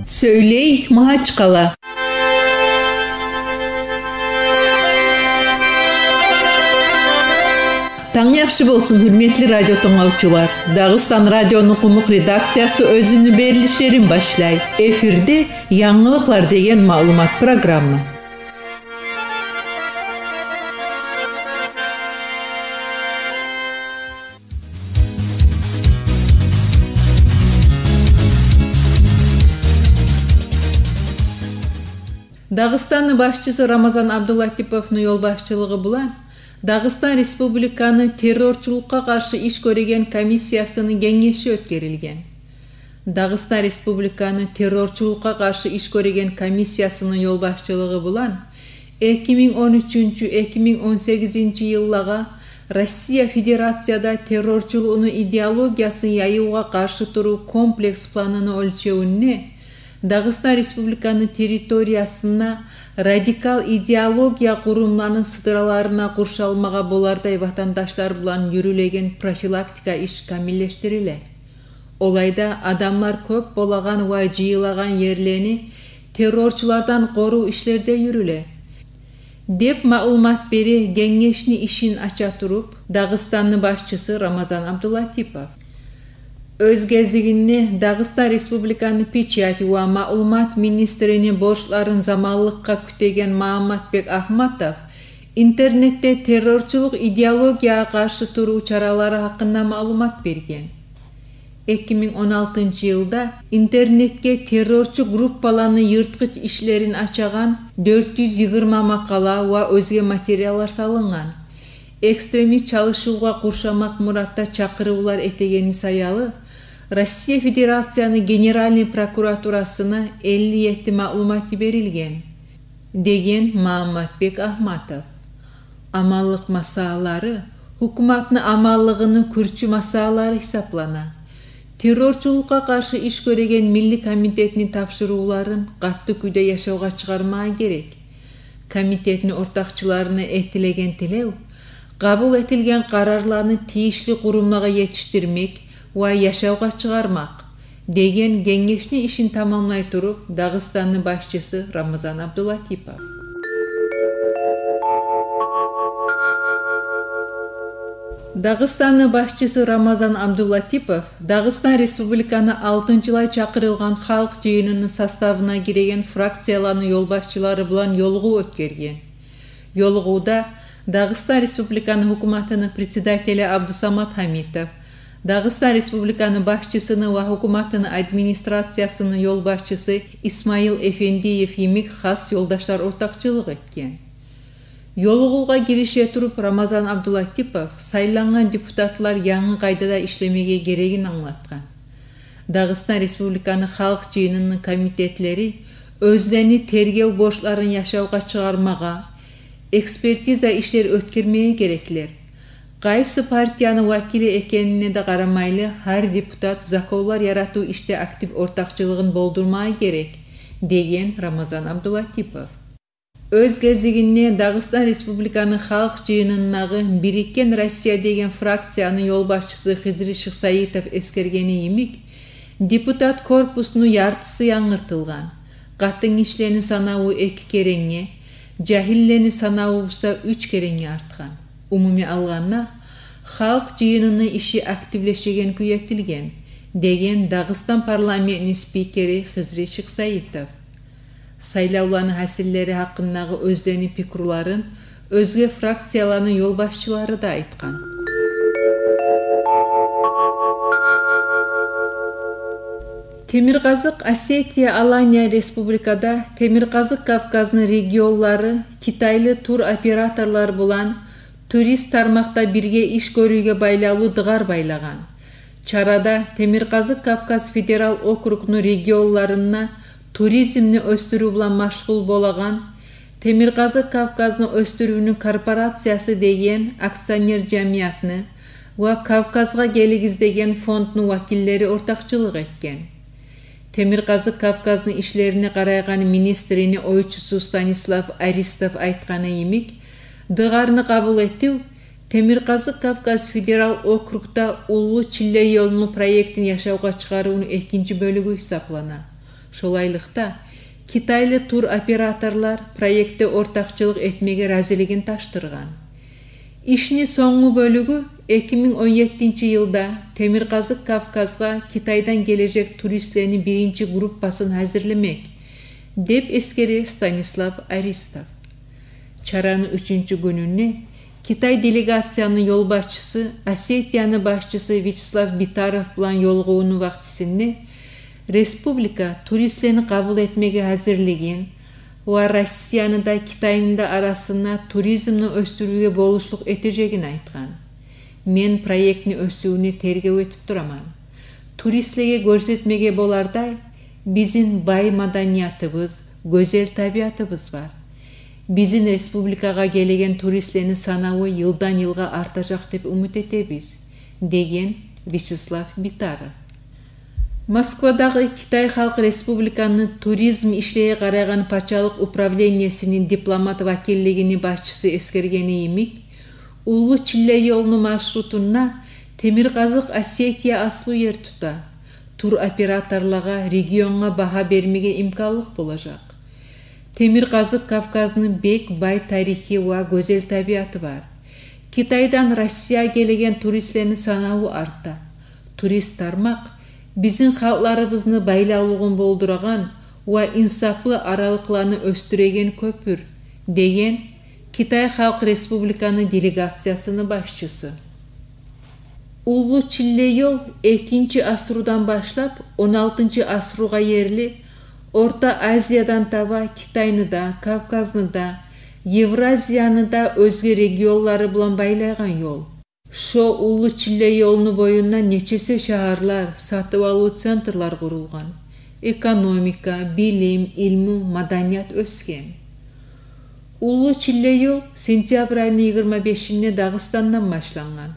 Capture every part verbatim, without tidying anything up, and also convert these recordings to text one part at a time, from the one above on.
Сёйлей Магьачкъала. Танг яхшы болсун, гьюрметли радио тынглавчулар. Дагъыстан радиону къумукъ редакциясы оьзюню берилишлерин башлай. Эфирде «Янгылыкълар» деген маълумат программа. Дагъыстанны башчысы Рамазан Абдулатиповну ёлбашчылыгъы булан Дагъыстан Республиканы террорчулукъгъа къаршы иш гёреген комиссиясыны генгеши оьтгерилген. Дагъыстан Республиканы террорчулукъгъа къаршы иш гёреген комиссиясыны ёлбашчылыгъы булан эки минг он уьчюнчю, эки минг он сегизинчи йыллагъа Россия Федерацияда террорчулукъну идеологиясын яйывгъа къаршы турув комплекс планыны оьлчевюнде Дагъыстан Республиканы территориясына радикал идеология къурумланы сыдраларына къуршалмагъа болардай ватандашлар булан юрюлеген профилактика иш камиллешдириле. Олайда адамлар кёп болагъан ва жыйылагъан ерлени террорчулардан къорув ишлери де юрюле, деп маълумат бере генгешни ишин ача туруп Дагъыстанны башчысы Рамазан Абдулатипов. Оьз гезигинде Дагъыстан Республиканы печать ва маълумат министрини борчларын заманлыкъгъа кютеген Магьамматбек Агьматов интернетде террорчулукъ идеологиягъа къаршы турув чаралары гьакъында маълумат берген. Эки минг он алтынчы йылда интернетге террорчу группаланы йыртгъыч ишлерин ачагъан дёрт юз йигирма макъала ва оьзге материаллар салынгъан. Экстремист чалышывгъа къуршамакъ муратда чакъырывлар этегени саялы Россия Федерацияны Генеральный прокуратурасына элли етти маълумат йиберилген, деген Магьамматбек Агьматов. Аманлыкъ масъалалары гьукуматны аманлыгъыны кюрчю масъалалары гьисаплана. Террорчулукъгъа къаршы иш гёреген милли комитетни тапшурувларын къатты кюйде яшавгъа чыгъармагъа герек. Комитетни ортакъчыларына этилеген тилев — къабул этилген къарарланы тийишли къурумлагъа етишдирмек ва яшавгъа чыгъармакъ, деген генгешни ишин тамамлай туруп Дагъыстанны башчысы Рамазан Абдулатипов. Дагъыстанны башчысы Рамазан Абдулатипов Дагъыстан Республиканы алтынчылай чакъырылгъан Халкъ жыйыныны составына гиреген фракцияланы ёлбашчылары булан ёлугъув оьтгерген. Ёлугъувда Дагъыстан Республиканы гьукуматыны председатели Абдусамат Гьамитов, Дагъыстан Республиканы башчысыны ва гьукуматыны администрациясыны ёлбашчысы Исмаил Эфендиев йимик хас ёлдашлар ортакъчылыкъ этген. Ёлугъувгъа гирише туруп Рамазан Абдулатипов сайлангъан депутатлар янгы къайдада ишлемеге герегин англатгъан. Дагъыстан Республиканы Халкъ жыйыныны комитетлери оьзлени тергев борчларын яшавгъа чыгъармагъа, экспертиза ишлер оьтгермеге гереклер. Къайсы партияны вакили экенине де къарамайлы, гьар депутат законлар яратыв ишде актив ортакъчылыгъын болдурмагъа герек, деген Рамазан Абдулатипов. Оьз гезигинде Дагъыстан Республиканы Халкъ жыйынындагъы «Бирикген Россия» деген фракцияны ёлбашчысы Хизри Шихсаитов эсгергени йимик, депутат корпусну яртысы янгыртылгъан, къатынгишилени санаву эки керенге, жагьиллени санаву буса уьч керенге артгъан. Умумий алгъанда, Халкъ жыйыныны иши активлешеген кюй этилген, деген Дагъыстан парламентни спикери Хизри Шихсаитов. Сайлавланы гьасиллери гьакъындагъы оьзлени пикруларын оьзге фракцияланы ёлбашчылары да айтгъан. Темиркъазыкъ Осетия-Алания Республикада Темиркъазыкъ Кавказны регионлары китайлы туроператорлар булан турист тармакъда бирге иш гёрювге байлавлу дыгъар байлагъан. Чарада Темиркъазыкъ Кавказ федерал округну регионларында туризмни оьсдюрюв булан машгъул болагъан Темиркъазыкъ Кавказны оьсдюрювню корпорациясы деген акционер жамиятны ва «Кавказгъа гелигиз» деген фондну вакиллери ортакъчылыкъ этген. Темиркъазыкъ Кавказны ишлерине къарайгъан министрини ойчусу Станислав Аристов айтгъаны йимик, дыгъарны къабул этив Темиркъазыкъ Кавказ федерал округда Уллу Чилле ёлну проектин яшавгъа чыгъарывну экинчи бёлюгю гьисаплана. Шолайлыкъда, китайлы туроператорлар проектде ортакъчылыкъ этмеге разилигин тапшургъан. Ишни сонггъу бёлюгю эки минг он еттинчи йылда Темиркъазыкъ Кавказгъа Китайдан гележек туристлени биринчи группасын гьазирлемек, деп эсгере Станислав Аристов. Чараны уьчюнчю гюнюнде Китай делегацияны ёлбашчысы, Осетияны башчысы Вячеслав Битаров булан ёлугъувну вакътисинде республика туристлени къабул этмеге гьазирлигин ва Россияны да, Китайны да арасында туризмни оьсдюрювге болушлукъ этежегин айтгъан. Мен проектни оьсювюне тергев этип тураман. Туристлеге гёрсетмеге болардай бизин бай маданиятыбыз, гёзел табиатыбыз бар. Бизин республикагъа гелеген туристлени санаву йылдан йылгъа артажакъ деп умут этебиз, деген Вячеслав Битаров. Москвадагъы Китай Халкъ Республиканы туризм ишлеге къарайгъан пачалыкъ управлениесини дипломат вакиллигини башчысы эсгергени йимик, Уллу Чилле ёлну маршрутунда Темиркъазыкъ Осетия аслу ер тута. Туроператорлагъа регионгъа багьа бермеге имканлыкъ болажакъ. Темиркъазыкъ Кавказны бек бай тарихи ва гёзел табиаты бар. Китайдан Россия гелеген туристлени санаву арта. Турист тармакъ бизин халкъларыбызны байлавлугъун болдурагъан ва инсаплы аралыкъланы оьсдюреген кёпюр, деген Китай Халкъ Республиканы делегациясыны башчысы. Уллу Чилле ёл экинчи асрудан башлап он алтынчы асругъа ерли Орта Азиядан таба Китайны да, Кавказны да, Евразияны да оьзге регионлары булан байлайгъан ёл. Шо Уллу Чилле ёлну боюнда нечесе шагьарлар, сатыв-алыв центрлер къурулгъан. Экономика, билим, илму, маданият оьсген. Уллу Чилле ёл сентябрь айны йигирма бешинде Дагъыстандан башлангъан.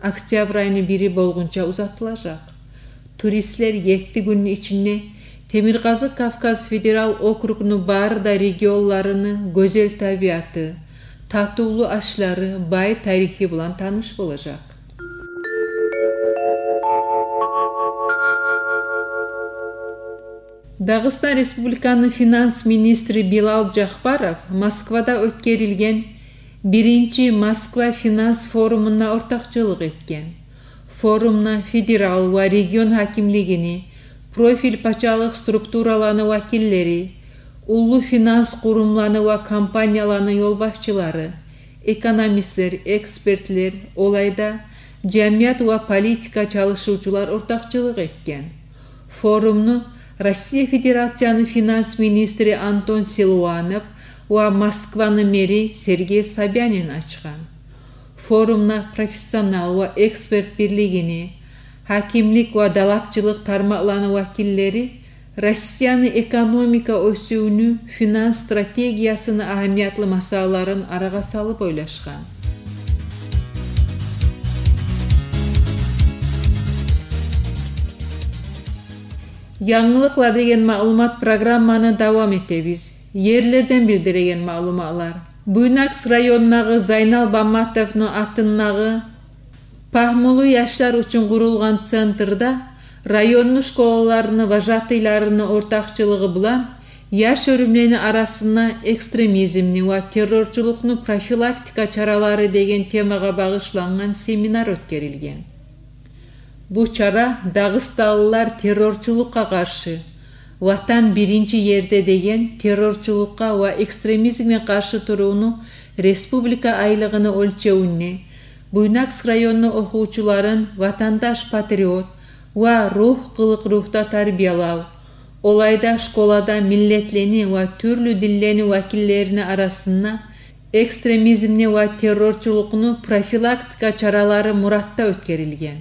Октябрь айны бири болгъунча узатылажакъ. Туристлер етти гюнню ичинде Темиркъазыкъ Кавказ федерал округну бары да регионларыны гёзел табиаты, татывлу ашлары, бай тарихи булан таныш болажакъ. Дагъыстан Республиканы финанс министри Билал Жапаров Москвада оьтгерилген биринчи Москва финанс форумунда ортакъчылыкъ этген. Форумда федерал ва регион гьакимлигини, профиль пачалыкъ структураланы вакиллери, уллу финанс къурумланы ва компанияланы ёлбашчылары, экономистлер, экспертлер, олайда жамият ва политика чалышывчулар ортакъчылыкъ этген. Форумну Россия Федерацияны финанс министри Антон Силуанов ва Москваны мэри Сергей Собянин ачгъан. Форумда профессионал ва эксперт бирлигини, гьакимлик ва далапчылыкъ тармакъланы вакиллери Россияны экономика оьсювню, финанс стратегиясыны агьамиятлы масъалаларын арагъа салып ойлашгъан. Янгылыкълар деген маълумат программаны давам этебиз. Ерлерден билдиреген маълуматлар. Буйнакск районундагъы Зайнал Баматовну атындагъы пагьмулу яшлар учун къурулгъан центрде районну школаларыны вожатыйларыны ортакъчылыгъы булан яш оьрюмлени арасында экстремизмни ва террорчулукъну профилактика чаралары деген темагъа багъышлангъан семинар оьтгерилген. Бу чара дагъыстанлылар террорчулукъгъа къаршы, «Ватан биринчи ерде» деген террорчулукъгъа ва экстремизмге къаршы турувну республика айлыгъыны оьлчевюнде Буйнакск районну охувчуларын ватандаш-патриот ва ругь къылыкъ ругьда тарбиялав, олайда школада миллетлени ва тюрлю динлени вакиллерини арасында экстремизмни ва террорчулукъну профилактика чаралары муратда оьтгерилген.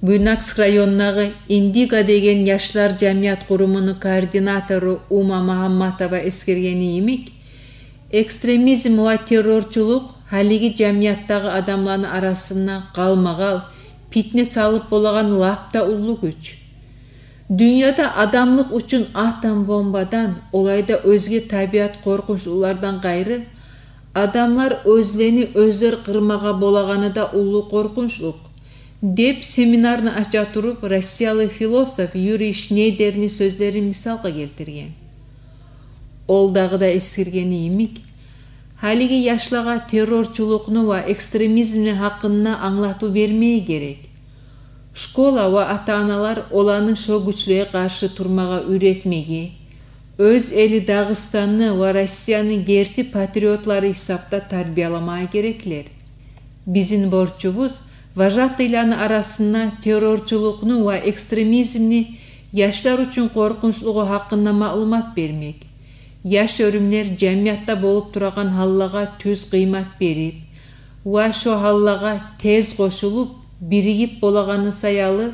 Буйнакск районундагъы «Индиго» деген яшлар жамият къурумуну координатору Ума Магьамматова эсгергени йимик, экстремизм ва террорчулукъ гьалиги жамиятдагъы адамланы арасында къалмагъал питне салып болагъан лап да уллу гюч. Дюньяда адамлыкъ учун атом бомбадан, олайда оьзге табиат къоркъунчлулардан къайры, Адамлар оьзлени оьзлер къырмагъа болагъаны да уллу къоркъунчлукъ, — деп семинарны ача туруп, россиялы философ Юрий Шнейдерни сёзлерин мисалгъа гелтирген. Ол дагъы да эсгергени йимик, гьалиги яшлагъа террорчулукъну ва экстремизмни гьакъында англатыв бермеге герек. Школа ва ата-аналар оланы шо гючлеге къаршы турмагъа уьйретмеге, оьз эли Дагъыстанны ва Россияны герти патриотлары гьисапда тарбияламагъа гереклер. Бизин борчубуз вожатыйланы арасында террорчулукъну ва экстремизмни яшлар учун къоркъунчлугъу гьакъында маълумат бермек. Яш оьрюмлер жамиятда болуп турагъан гьаллагъа тюз къыймат берип ва шо гьаллагъа тез къошулуп, биригип болагъаны саялы,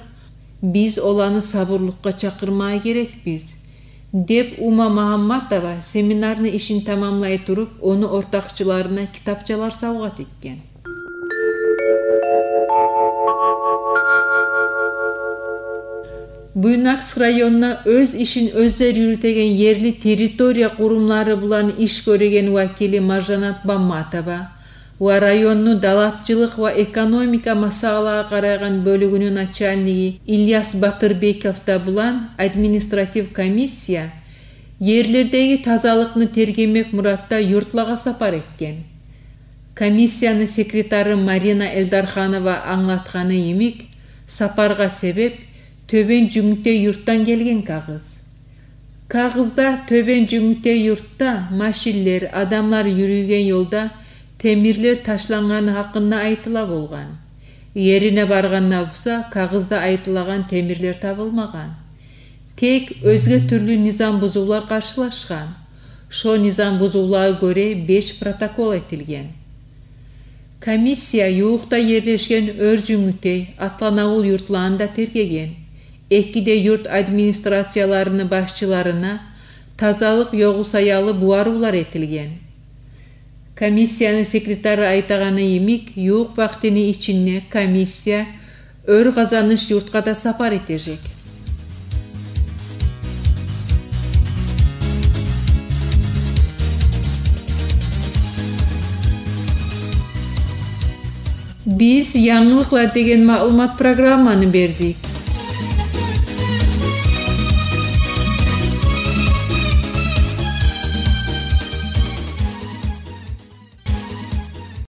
биз оланы сабурлукъгъа чакъырмагъа герекбиз, — деп Ума Магьамматова семинарны ишин тамамлай туруп, ону ортакъчыларына китапчалар савгъат этген. Буйнакск районуна оьз ишин оьзлер юрютеген ерли территория къурумлары булан иш гёреген вакили Маржанат Бамматова ва районну далапчылыкъ ва экономика масъалагъа къарайгъан бёлюгюню начальниги Ильяс Батырбеков да булан административ комиссия ерлердеги тазалыкъны тергемек муратда юртлагъа сапар этген. Комиссияны секретары Марина Эльдарханова англатгъаны йимик, сапаргъа себеп Тёбен Жюнгютей юртдан гелген кагъыз. Кагъызда Тёбен Жюнгютей юртда машинлер, адамлар юрюйген ёлда темирлер ташлангъаны гьакъында айтыла болгъан. Ерине баргъанда буса, кагъызда айтылагъан темирлер табылмагъан. Тек оьзге тюрлю низам бузувлар къаршылашгъан. Шо низам бузувлагъа гёре беш протокол этилген. Комиссия ювукъда ерлешген Оьр Жюнгютей, Атланавул юртланы да тергеген. Эки де юрт администрацияларыны башчыларына тазалыкъ ёгъу саялы бугъарывлар этилген. Комиссияны секретары айтагъаны йимик, ювукъ вакътини ичинде комиссия Оьр Къазаныш юртгъа да сапар этежек. Биз янгылыкълар деген маълумат программаны бердик.